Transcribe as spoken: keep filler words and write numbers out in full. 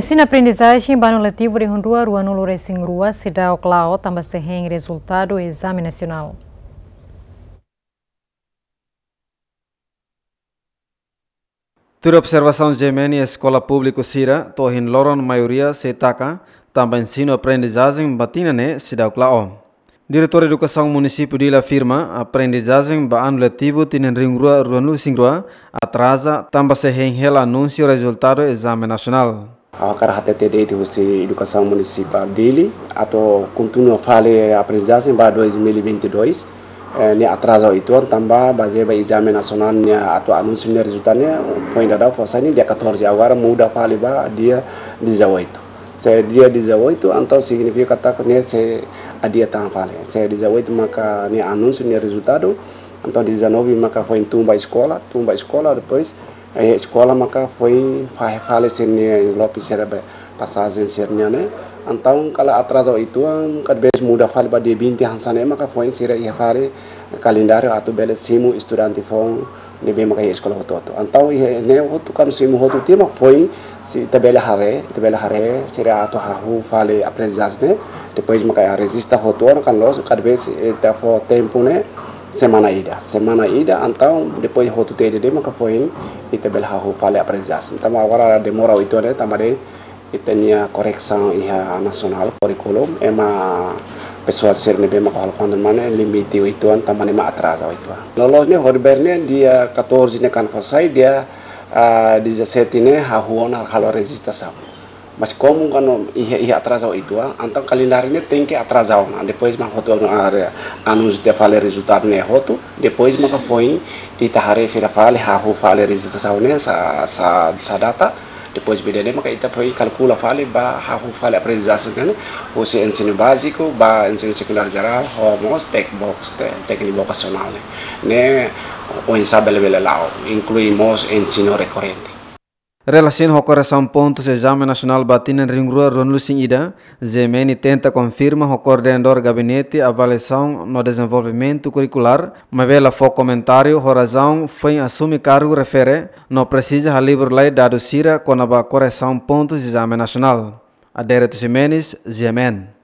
Ensinu-aprendizajen ba anu letivu rihun rua ruanulu-resin-rua seidauk la'o tanba sei hein rezultadu ezame nasionál. Tuir observasaun G M N, eskola públiku sira to'o ohin loron maioria sei taka tanba ensinu-aprendizajen ba tinan ne'e seidauk la'o. Diretór Edukasaun Munisípiu Dili afirma, aprendizajen ba anu letivu tinan rihun rua ruanulu-resin-rua atraza tanba sei hein hela anúnsiu rezultadu ezame nasionál. Ha'u hakarak hatete de'it husi Edukasaun Munisipál Dili atu kontinua fali aprendizajen ba dois mil e vinte e dois, eh, ne'e atraza uitoan tanba bazeia ba ezame nasionál ne'e atu anúnsiu nia rezultadu ne'e foin daudaun fó sai ne'e dia catorze, agora muda fali ba dia dezoito. Se dia dezoito, entaun signifika katak ne'e sei adia tan fali. Se dezoito maka ne'e anúnsiu nia rezultadu, entaun dezanove maka foin tun ba eskola, tun ba eskola, depois, eh, eskola maka foin fahe fali sira-nia envelope sira-ne'ebé pasajen sira-nian ne'e. Entaun kala atraza uitoan, kada vez muda fali ba dia vinte hanesan ne'e maka foin sira iha fali kalendáriu atu bele simu estudante foun ne'ebé maka iha eskola hotu-hotu. Entaun iha ne'e hotu kan simu hotu tiha mak foin sei ita bele haree, ita bele haree sira atu hahú fali aprendizajen ne'e. Depois maka rejista hotu ona kan loos, kada vez ita fó tempu ne'e semana ida. Semana ida, entaun depois hotu tiha de'it maka foin ita bele hahú fali aprendizajen. Entaun agora demora uitoan ne'e tanba de'it ita-nia koresaun iha nasionál kurríkulu, ema pesoál sira ne'ebé maka halo konta mane limite uitoan tanba ne'e mak atraza uitoan. Loloos ne'e horibainrua ne'e dia catorze ne'e kan fó sai, dia, ah, dezassete ne'e hahú ona halo rejistrasaun. Mas komu kan iha, iha atraza uitoan, entaun kalendáriu ne'e tenke atraza ona, depois mak hotu ona, ah, anúnsiu tiha fali rezultadu ne'e hotu, depois maka foin ita haree fila fali, hahú fali rejistrasaun ne'e sá, sá, sá data, depois ba ida-ne'e maka ita foin kalkula fali ba hahú fali aprendizajen ne'e, husi ensinu báziku ba ensinu sekundáriu jerál, ho mós tek-, bok-, te-, tékniku vokasionál ne'e. Ne'e oinsá bele, bele la'o, inklui mós ensinu rekorrente. Relasiona ho koresaun pontus ezame nasionál ba tinan rihun rua ruanulu-resin-ida, G M N tenta konfirma ho koordenadór Gabinete Avaliasaun no Dezenvolvimentu Kurrikulár, maibé la fó komentáriu ho razaun foin asume kargu refere, no presiza halibur lai dadus sira kona-ba koresaun pontus ezame nasionál. Adérito Ximenes, G M N.